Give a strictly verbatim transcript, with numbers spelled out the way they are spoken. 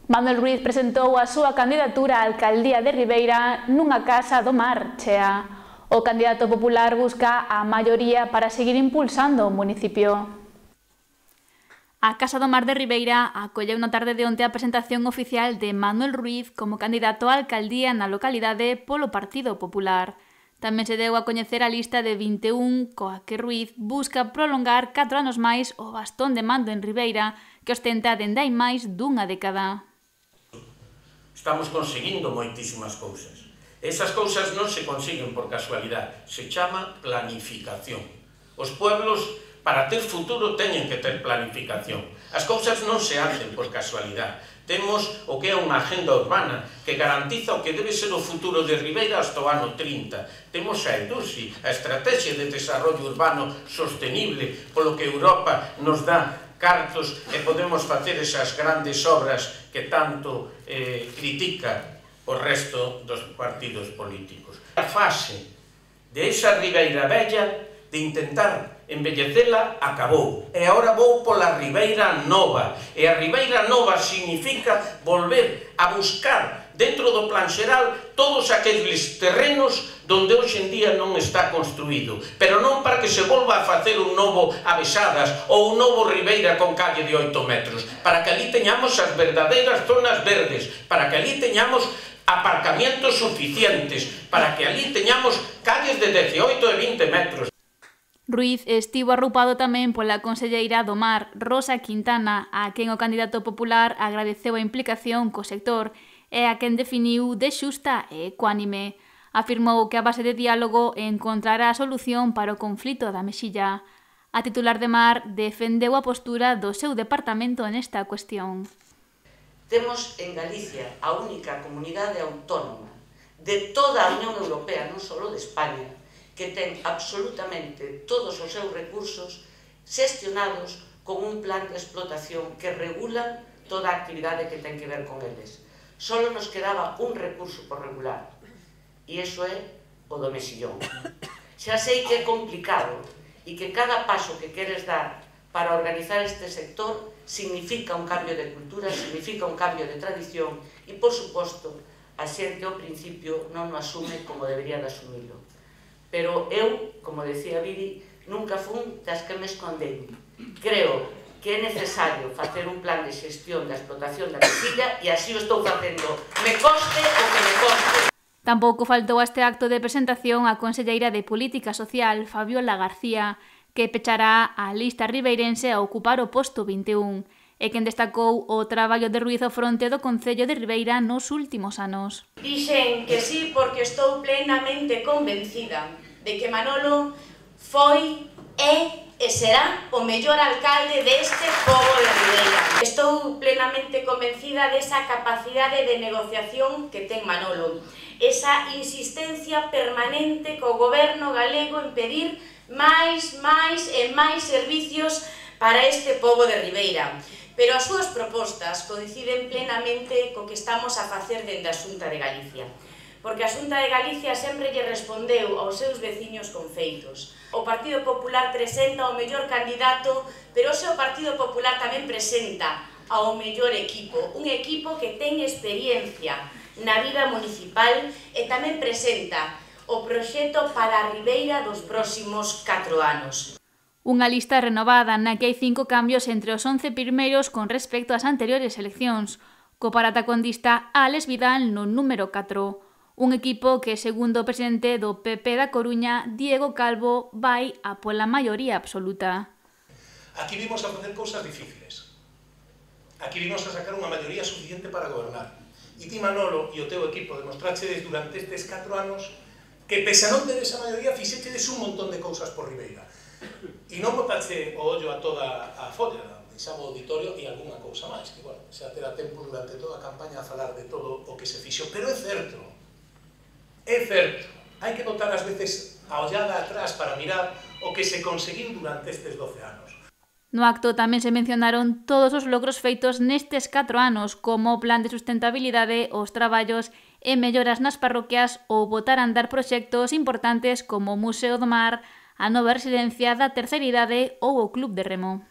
Manuel Ruiz presentou a súa candidatura á alcaldía de Ribeira nunha casa do mar chea. O candidato popular busca a maioría para seguir impulsando o municipio. A Casa do Mar de Ribeira acolleu na tarde de onte a presentación oficial de Manuel Ruiz como candidato á alcaldía na localidade polo Partido Popular. Tamén se deu a coñecer a lista de vinte e un coa que Ruiz busca prolongar catro anos máis o bastón de mando en Ribeira que ostenta dende hai máis dunha década. Estamos conseguindo moitísimas cousas. Esas cousas non se consiguen por casualidade, se chama planificación. Os pueblos, para ter futuro, teñen que ter planificación. As cousas non se hacen por casualidade. Temos o que é unha agenda urbana que garantiza o que debe ser o futuro de Ribeira hasta o ano trinta. Temos a EDUSI, a Estrategia de Desarrollo Urbano Sostenible, polo que Europa nos dá cartos e podemos facer esas grandes obras que tanto eh, critica o resto dos partidos políticos. A fase de esa Ribeira Bella de intentar embellecela acabou e agora vou pola Ribeira Nova e a Ribeira Nova significa volver a buscar dentro do plan xeral todos aqueles terrenos donde hoxe en día non está construído, pero non para que se volva a facer un novo Avesadas ou un novo Ribeira con calle de oito metros, para que ali teñamos as verdadeiras zonas verdes, para que ali teñamos aparcamientos suficientes, para que ali teñamos calles de dezaoito e vinte metros. Ruiz estivo arroupado tamén pola conselleira do Mar, Rosa Quintana, a quen o candidato popular agradeceu a implicación co sector e a quen definiu de xusta e ecuánime. Afirmou que a base de diálogo encontrará a solución para o conflito da Mexilla. A titular de Mar defendeu a postura do seu departamento nesta cuestión. Temos en Galicia a única comunidade autónoma de toda a Unión Europea, non só de España, que ten absolutamente todos os seus recursos xestionados con un plan de explotación que regula toda a actividade que ten que ver con eles. Solo nos quedaba un recurso por regular, e iso é o do mexillón. Xa sei que é complicado e que cada paso que queres dar para organizar este sector significa un cambio de cultura, significa un cambio de tradición e, por suposto, a xente ao principio non o asume como debería de asumilo. Pero eu, como decía Viri, nunca fun das que me escondei. Creo que é necesario facer un plan de xestión da explotación da mexilla e así o estou facendo. Me coste o que me coste. Tampouco faltou a este acto de presentación a conselleira de Política Social, Fabiola García, que pechará a lista ribeirense a ocupar o posto vinte e un, e quen destacou o traballo de Ruiz ao fronte do Concello de Ribeira nos últimos anos. Dixen que sí porque estou plenamente convencida de que Manolo foi, é e será o mellor alcalde deste pobo de Ribeira. Estou plenamente convencida desa capacidade de negociación que ten Manolo, esa insistencia permanente co goberno galego en pedir máis, máis e máis servicios para este pobo de Ribeira. Pero as súas propostas coinciden plenamente co que estamos a facer dende a Xunta de Galicia. Porque a Xunta de Galicia sempre lle respondeu aos seus veciños con feitos. O Partido Popular presenta o mellor candidato, pero o seu Partido Popular tamén presenta ao mellor equipo. Un equipo que ten experiencia na vida municipal e tamén presenta o proxecto para a Ribeira dos próximos catro anos. Unha lista renovada na que hai cinco cambios entre os once primeiros con respecto ás anteriores eleccións, co paratacondista Álex Vidal no número catro. Un equipo que, segundo o presidente do P P da Coruña, Diego Calvo, vai a pola maioría absoluta. Aquí vimos a facer cousas difíciles. Aquí vimos a sacar unha maioría suficiente para gobernar. E ti, Manolo, e o teu equipo demostrachedes durante estes catro anos que, pese a non ter esa maioría, fixechedes un montón de cousas por Ribeira. E non botache o ollo a toda a folla, deixaba o auditorio e algunha cousa máis, que, bueno, xa terá tempo durante toda a campaña a falar de todo o que se fixo. Pero é certo, é certo, hai que botar ás veces a ollada atrás para mirar o que se conseguiu durante estes doce anos. No acto tamén se mencionaron todos os logros feitos nestes catro anos, como o plan de sustentabilidade, os traballos e melloras nas parroquias ou botar a andar proxectos importantes como o Museo do Mar, a nova residencia da terceira idade ou o Club de Remo.